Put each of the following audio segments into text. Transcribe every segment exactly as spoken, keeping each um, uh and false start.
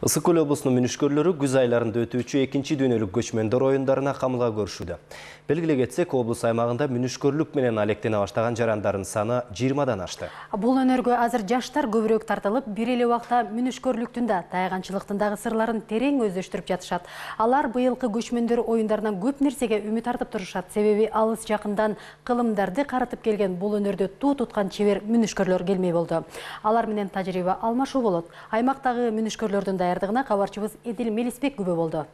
Ысык Көл облусунун мүнүшкөрлөрү күз айларында өтүүчү экинчи дүйнөлүк көчмөндөр оюндарына камылга көрүшүүдө. Белгилей кетсек, облус аймагында мүнүшкөрлүк менен алектене баштаган жарандардын саны жыйырмадан ашты. Бул өнөргө азыр жаштар көбүрөөк тартылып, бир эле убакта мүнүшкөрлүктүн да, тайганчылыктын дагы сырларын терең өздөштүрүп жатышат. Алар быйылкы көчмөндөр оюндарынан көп нерсеге үмүт артып турушат. Себеби алыс жакындан кылымдарды карытып келген бул өнөрдө туу туткан чебер мүнүшкөрлөр келмей болду. Алар менен тажрыйба алмашуу болот. Аймактагы мүнүшкөрлөрдүн даярдыгына кабарчыбыз Эдил Мелисбек күбө болду.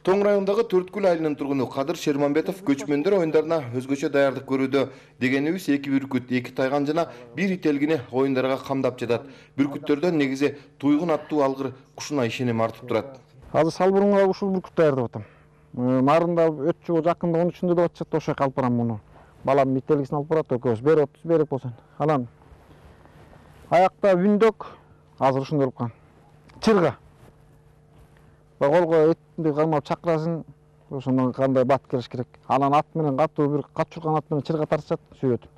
Тоң районундагы Төрткүл айылынын тургуну Кадыр Шерманбетов көчмөндөр оюндарына өзгөчө даярдык көрүүдө. Дегенибиз эки бүркүт, эки тайган жана бир ителгини оюндарга камдап жатат. Бүркүттөрдөн негизи туйгун аттуу алгыр кушуна ишеним артып турат. Азыр салбурунга ушул бүркүт даярдап атам. Нарында өтчү жакында он үчүндө деп атышат, ошо алып барам муну. Балам ителгисин алып барат, экөөбүз берип атабыз, берек болсун. Анан аякта бүндөк азыр ушундай болуп калган. Чырга. Колго этти кармап чакырасын, ошондон кандай бат кериш керек. Анан ат менен катуу бир качурган ат менен чырга тартышат, сүйрөтүп.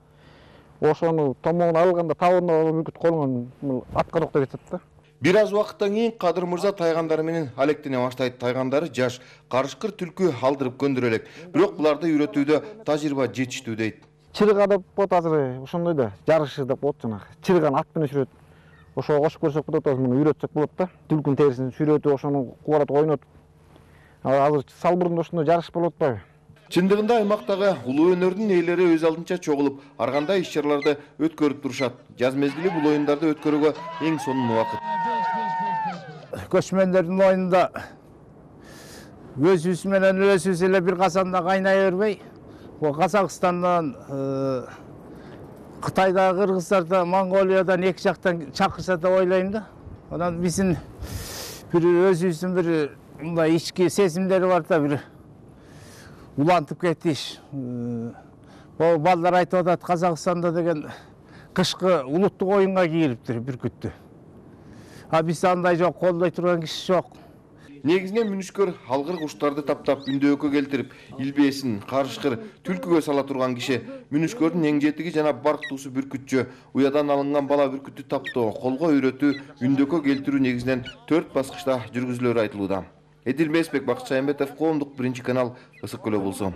Ошону томогун алганда табында бүркүт колунан аткароок деп жатат да. Бир аз убакыттан кийин Кадыр мырза тайгандары менен алектене баштайт. Тайгандары жаш, карышкыр түлкү алдырып көндүрө элек. Бирок буларды үйрөтүүдө тажрыйба жетиштүү дейт. Чырга деп болот азыр ошондой да, жарышы деп болот жанагы. Чырганы ат менен сүрөт. Ошого кошуп көрсөк болот, азыр муну үйрөтсөк болот да. Түлкүнүн терисин сүрөтүп, ошону кубарат ойнотуп. Азыр салбурунда ошондой жарыш болуп атпайбы? Чындыгында аймактагы улуу өнөрдүн ээлери өз алдынча чогулуп, ар кандай иш-чараларды өткөрүп турушат. Жаз мезгили бул оюндарды өткөрүүгө эң сонун убакыт. Көчмөндөрдүн оюнунда өзүбүз менен өзүбүз эле бир казанда кайнай бербей, Казакстандан, Кытайда, Кыргыздарда, Монголиядан эки жактан чакырса деп ойлойм да. Анан биздин бир өзүбүздүн бир мындай ички сезимдери бар да, бир улантып кетиш. Бул балдар айтып атат, Казакстанда деген кышкы улуттук оюнга кийилиптир бүркүттү. А бизде андай жок, колдой турган киши жок. Негизинен мүнүшкөр алгыр куштарды таптап үндөккө келтирип, илбесин, карышкыр, түлкүгө сала турган киши. Мүнүшкөрдүн эң жетиги жана барктуусу бүркүтчү. Уядан алынган бала бүркүттү таптоо, колго үйрөтүү, үндөккө келтирүү негизинен төрт баскычта жүргүзүлөрү айтылууда. Эдил Мелисбек, Бакыт Шаймбетов, Коомдук биринчи канал, Ысык Көл облусу.